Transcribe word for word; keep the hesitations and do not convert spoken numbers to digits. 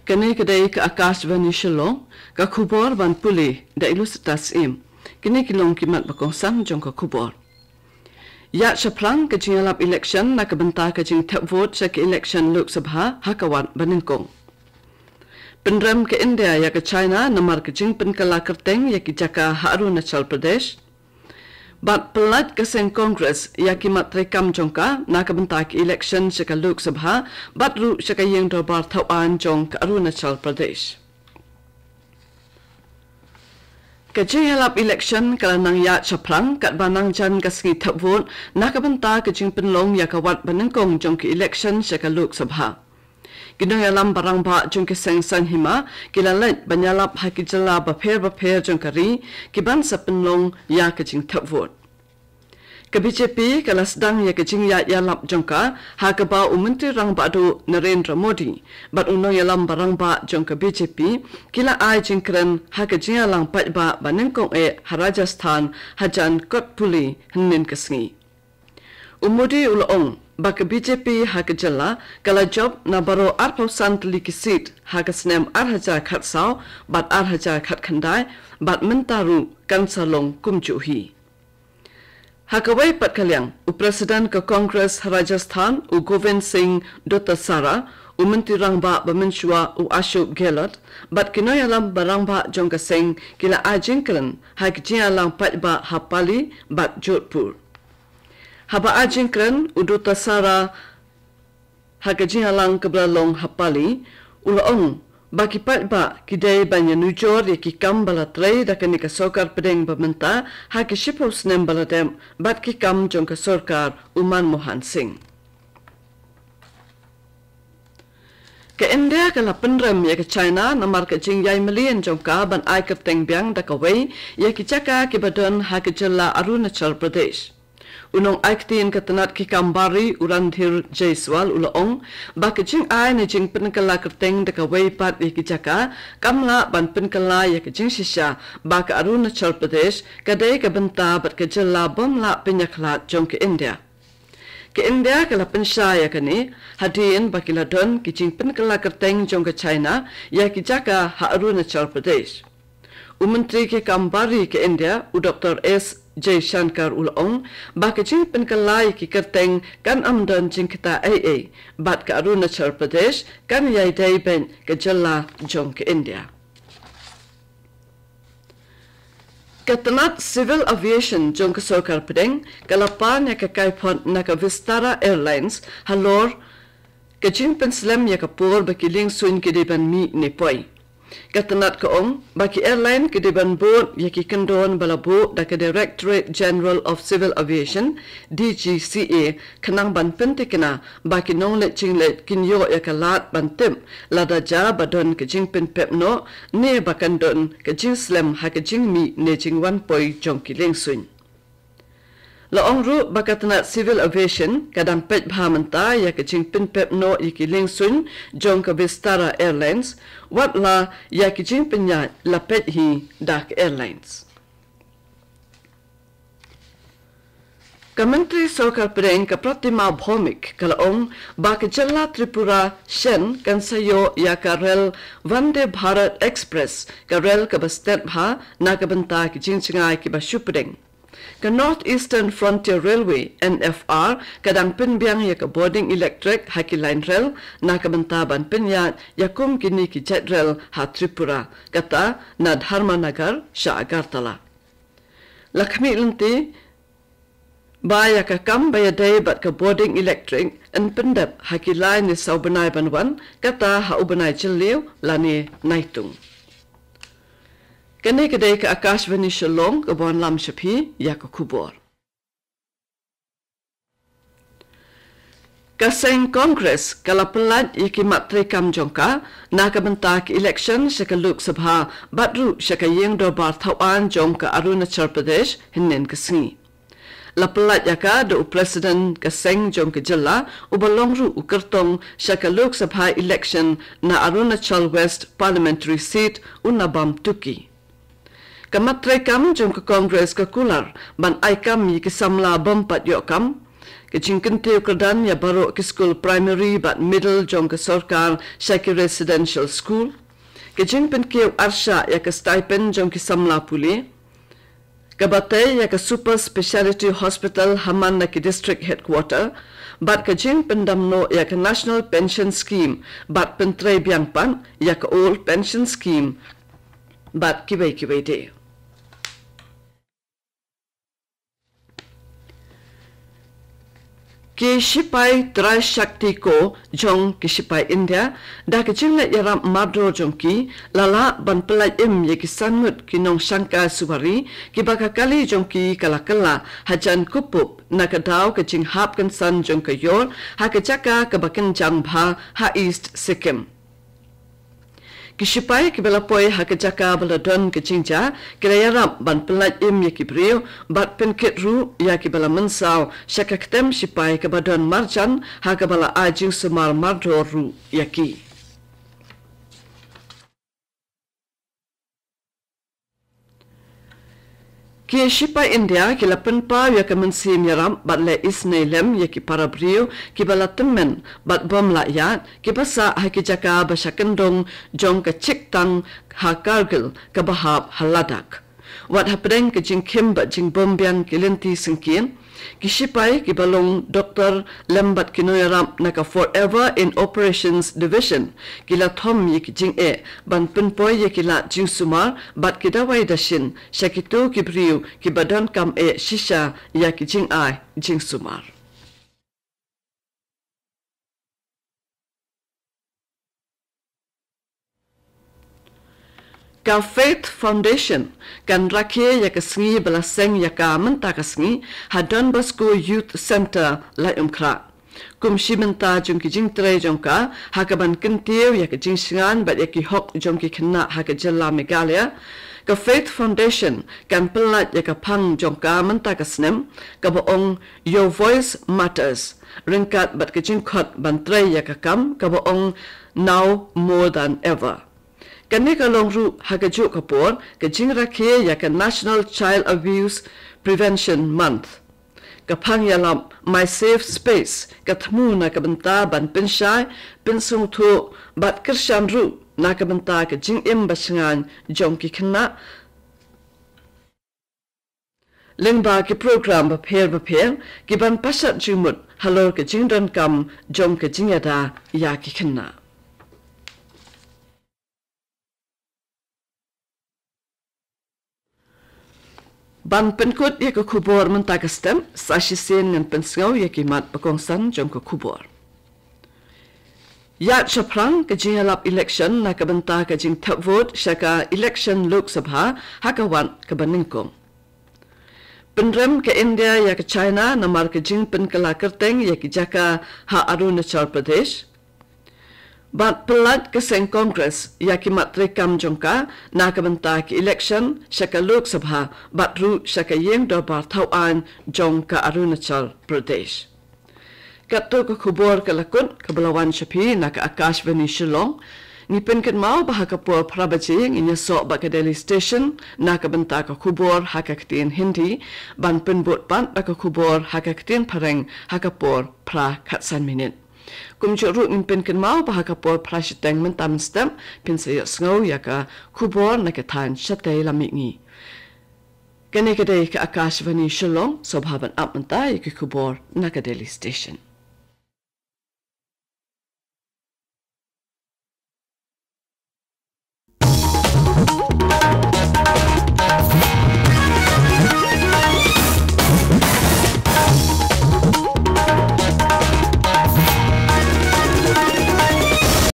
Kane ka dei ka Akashvani Shillong, ka khubor ban pule da i Lucetta Syiem. Kine ki long ki mat ba kongsan jong ka khubor. Ïaid shaphrang ka jingïalap election na ka bynta ka jingthep vote sha ka election Lok Sabha ha ka wat ba nyngkong. Pynrem ka India ïa ka China namar ka jingpynkylla kyrteng ïa ki jaka ha Arunachal Pradesh. Bad pyllait ka seng Congress ïa ki mat treikam jong ka na ka bynta ka election sha ka Lok Sabha bad ruh sha ka ïing dorbar thaw aiñ jong ka Arunachal Pradesh. Ka jingïalap election ka la nang ïaid shaphrang katba nang jan ka sngi thep vote na ka bynta ka jingpynlong ïa ka wat ba nyngkong jong ka election sha ka Lok Sabha. Ki nongïalam ba rangbah jong ki seng saiñ hima ki la leit ban ïalap ha ki jylla bapher bapher jong ka ri ki ban sa pynlong ïa ka jingthep vote. Ka B J P ka la sdang ïa ka jingïaid ïalap jong ka ha kaba u Myntri Rangbah Duh Narendra Modi bad u nongïalam ba rangbah jong ka B J P ki la ai jingkren ha ka jingïalang paidbah ba nyngkong eh ha Rajasthan hajan Kotputli hynnin ka sngi. U Modi u la ong ba ka B J P ha ka jylla ka la jop na baroh arphew san tylli ki seat ha ka snem ar hajar khatsaw bad ar hajar khatkhyndai bad mynta ruh kan sa long kumjuh hi. Ha kawei pat ka liang, u President ka Congress ha Rajasthan, u Govind Singh Dotasara, u Myntri Rangbah ba mynshuwa u Ashok Gehlot bad ki nongïalam ba rangbah jong ka seng ki la ai jingkren ha ki jingïalang paidbah ha Pali bad Jodhpur. Haba ai jingkren u Dotasara ha ka jingïalang kaba la long ha Pali, u la ong ba ki paidbah ki dei ban ïanujor ïa ki kam ba la trei da kane ka sorkar pdeng ba mynta ha ki shiphew snem ba la dep bad ki kam jong ka sorkar u Manmohan Singh. Ka India ka la pynrem ïa ka China namar ka jingïaimylli jong ka ban ai kyrteng biang da kawei ïa ki jaka kiba don ha ka jylla Arunachal Pradesh. U nongai ktien ka tnat ki kam bar ri u Randhir Jaiswal u la ong ba ka jingai ne jingpynkylla kyrteng da kawei pat ïa ki jaka kam lah ban pynkylla ïa ka jingshisha ba ka Arunachal Pradesh ka dei ka bynta bad ka jylla bym lah pynïakhlad jong ka India. Ka India ka la pynshai ïa kane hadien ba ki la don ki jingpynkylla kyrteng jong ka China ïa ki jaka ha Arunachal Pradesh. U Myntri ki kam bar ri ka India, u Doktor S Jaishankar u la ong ba ka jingpynkylla ïa ki kyrteng kan ym don jingktah ei ei bad ka Arunachal Pradesh kan ïai dei beit ka jylla jong ka India. Ka tnat Civil Aviation jong ka sorkar pdeng ka la pan ïa ka kaiphod na ka Vistara Airlines halor ka jingpynslem ïa ka por ba ki liengsuiñ ki dei ban mih ne poi. Ka tnat ka ong ba ki airline ki dei ban bud ïa ki kyndon ba la buh da ka Directorate General of Civil Aviation, D G C A, khnang ban pyntikna ba ki nongleit jingleit kin ïoh ïa ka lad ban tip lada ja ba don ka jingpynpep noh ne ba kan don ka jingslem ha ka jingmih ne jingwan poi jong ki liengsuiñ. La ong ruh ba ka tnat Civil Aviation ka dang peit bha mynta ïa ka jingpynpep noh ïa ki liengsuiñ jong ka Vistara Airlines, wat la ïa ki jingpynïaid la peit hi da ka airlines. Ka Myntri Sorkar Pdeng ka Pratima Bhowmik ka la ong ba ka jylla Tripura shen kan sa ïoh ïa ka rel Vande Bharat Express, ka rel kaba stet bha na ka bynta ki jingjngai kiba shu pdeng. Ka North Eastern Frontier Railway, N F R, ka dang pynbiang ïa ka bording elektrik ha ki lain rel na ka bynta ban pynïaid ïa kum kine ki jait rel ha Tripura, kata na Dharmanagar sha Agartala. La khmih lynti ba ïa ka kam ba ïadei bad ka bording elektrik yn pyndep ha ki lai ne saw bnai ban wan, kata ha u bnai Jylliew lane Naitung. Kane ka dei ka Akashvani Shillong kaba wanlam sha phi ïa ka khubor. Ka seng Congress ka la pyllait ïa ki mat treikam jong ka na ka bynta ka election sha ka Lok Sabha bad ruh sha ka ïing dorbar thaw aiñ jong ka Arunachal Pradesh hynnin ka sngi. La pyllait ïa ka da u President ka seng jong ka jylla uba long ruh u kyrtong sha ka Lok Sabha election na Arunachal West Parliamentary Seat, u Nabam Tuki. Ka mat treikam jong ka Congress ka kular ban ai kam ïa ki samla bym pat ïoh kam, Ka jingkyntiew kyrdan ïa baroh ki skul primary bad middle jong ka sorkar sha ki residential school. Ka jingpynkiew arshah ïa ka stipend jong ki samla pule. Ka batai ïa ka super speciality hospital ha man na ki district headquarter. Bad ka jingpyndam noh ïa ka National Pension Scheme bad pyntrei biang pat ïa ka Old Pension Scheme. Bad kiwei kiwei de. Ki shipai Trai Shakti Corps jong ki shipai India, da ka jingleh ïarap mardor jong ki, la lah ban pyllait im ïa ki san ngut ki nongshangkai suwari, kiba ka kali jong ki ka la kylla hajan Kupup, na ka daw ka jinghap kynsan jong ka ïor ha ka jaka kaba kynjang bha ha East Sikkim. Ki shipai kiba la poi ha ka jaka ba la don ka jingjia, ki la ïarap ban pyllait im ïa ki briew, bad pynkit ruh ïa kiba la mynsaw sha ka ktem shipai kaba don marjan, ha kaba la ai jingsumar mardor ruh ïa ki. Ki shipai India ki la pynpaw ïa ka mynsiem ïarap bad leh isynei lem ïa ki para briew kiba la tymmen bad bym lah ïaid, kiba sah ha ki jaka ba sha kyndong jong ka chiktang ha Kargil kaba hap ha Ladakh. Wat hapdeng ka jingkhim bad jingbym biang ki lynti syngkien, ki shipai kiba long doktor lem bad ki nongïarap na ka Forever in Operations Division, ki la thom ïa ki jingeh ban pynpoi ïa ki lad jingsumar bad ki dawai dashin sha kito ki briew kiba donkam eh shisha ïa ki jingai jingsumar. Ka Faith Foundation kan rakhe ïa ka sngi ba la seng ïa ka mynta ka sngi ha Don Bosco Youth Centre, Laitumkhrah. Kum shi bynta jong ki jingtrei jong ka, ha kaban kyntiew ïa ka jingshngaiñ bad ïa ki hok jong ki khynnah ha ka jylla Meghalaya, ka Faith Foundation kan pyllait ïa ka phang jong ka mynta ka snem, kaba ong Your Voice Matters, ryngkat bad ka jingkhot ban trei ïa ka kam kaba ong Now More Than Ever. Kane ka long ruh ha kajuh ka por ka jingrakhe ïa ka National Child Abuse Prevention Month. Ka phang ïalap My Safe Space ka thmu na ka bynta ban pynshai, pynsngewthuh bad kyrshan ruh na ka bynta ka jingim bashngaiñ jong ki khynnah, lyngba ki program bapher bapher kiban pashat jingmut halor ka jingdonkam jong ka jingïada ïa ki khynnah. Ban pynkut ïa ka khubor mynta ka step, sa shisien ngan pynsngew ïa ki mat bakongsan jong ka khubor. Ïaid shaphrang ka jingïalap election na ka bynta ka jingthep vote sha ka election Lok Sabha ha ka wat kaba nyngkong. Pynrem ka India ïa ka China namar ka jingpynkylla kyrteng ïa ki jaka ha Arunachal Pradesh. Bad pyllait ka seng Congress ïa ki mat treikam jong ka na ka bynta ki election sha ka Lok Sabha bad ruh sha ka ïing dorbar thawaiñ jong ka Arunachal Pradesh. Katto ka khubor ka la kut kaba la wan sha phi na ka Akashvani Shillong. Ngi pynkynmaw ba ha ka por phra baje ngin ïasoh bad ka Delhi Station na ka bynta ka khubor ha ka ktien Hindi, ban pynbud pat da ka khubor ha ka ktien Phareng ha ka por phra khatsan minit. Kumjuh ruh ngin pynkynmaw ba ha ka por phra shiteng mynta mynstep phin sa ïohsngew ïa ka khubor na ka thaiñ shatei lam mihngi. Kane ka dei ka Akashvani Shillong, sngewbha ban ap mynta ïa ki khubor na ka Delhi Station.